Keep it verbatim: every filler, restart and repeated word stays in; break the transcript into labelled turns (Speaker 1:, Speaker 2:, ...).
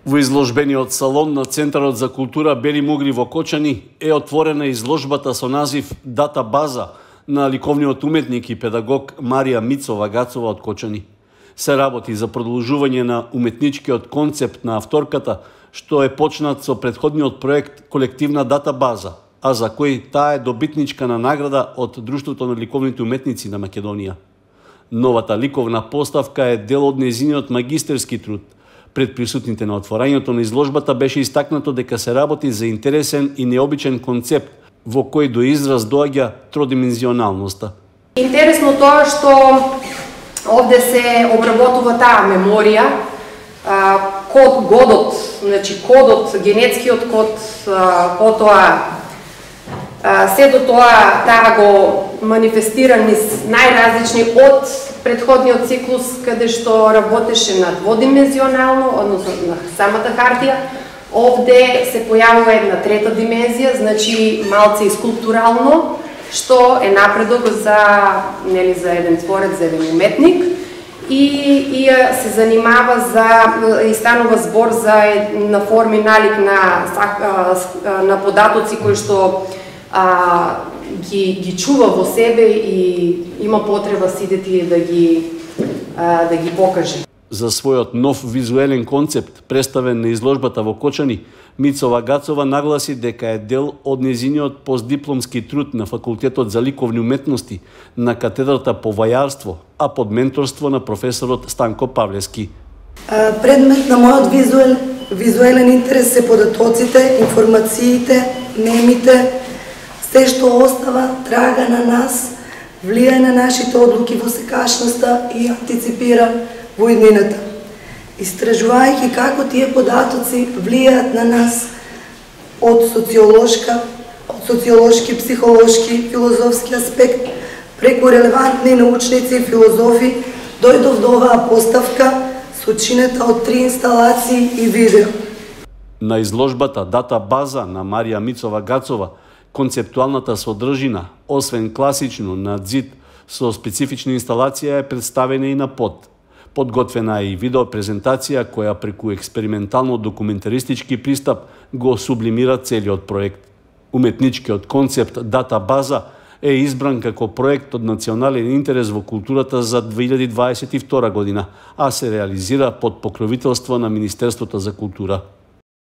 Speaker 1: Во изложбениот салон на Центарот за култура Бели Мугри во Кочани е отворена изложбата со назив Дата база на ликовниот уметник и педагог Марија Мицова-Гацова од Кочани. Се работи за продолжување на уметничкиот концепт на авторката, што е почнат со претходниот проект Колективна дата база, а за кој таа е добитничка на награда од Друштвото на ликовните уметници на Македонија. Новата ликовна поставка е дел од нејзиниот магистерски труд. Пред присутните на отворањето на изложбата беше истакнато дека се работи за интересен и необичен концепт во кој до израз доаѓа тродимензионалноста.
Speaker 2: Интересно тоа што овде се обработува таа меморија, код годот, значи кодот, генетскиот код, потоа се до тоа таа го манифестира низ најразлични од претходниот циклус каде што работеше на дводимензионално, односно на самата хартија. Овде се појавува една трета димензија, значи малце и скулптурално, што е напредок за, нели, за еден творец, за еден уметник, и, и се занимава за, и станува збор за на форми налик на, на податоци кои што а, ги, ги чува во себе и има потреба сидети да ги, а, да ги покаже.
Speaker 1: За својот нов визуелен концепт, представен на изложбата во Кочани, Мицова-Гацова нагласи дека е дел од нејзиниот постдипломски труд на Факултетот за ликовни уметности на катедрата по вајарство, а под менторство на професорот Станко Павлевски.
Speaker 3: Предмет на мојот визуел, визуелен интерес се податоците, информациите, мемите, се што остава трага на нас, влијае на нашите одлуки во секашноста и антиципира во иднината. Истражувајќи како тие податоци влијаат на нас од социолошка, од социолошки, психолошки, филозофски аспект, преку релевантни научници и филозофи, дојдов до оваа поставка со чинета од три инсталации и видео.
Speaker 1: На изложбата Дата база на Марија Мицова-Гацова, концептуалната содржина, освен класично на ѕид со специфична инсталација, е представена и на под. Подготвена е и видеопрезентација која преку експериментално документаристички пристап го сублимира целиот проект. Уметничкиот концепт Дата база е избран како проект од национален интерес во културата за две илјади дваесет и втора година, а се реализира под покровителство на Министерството за култура.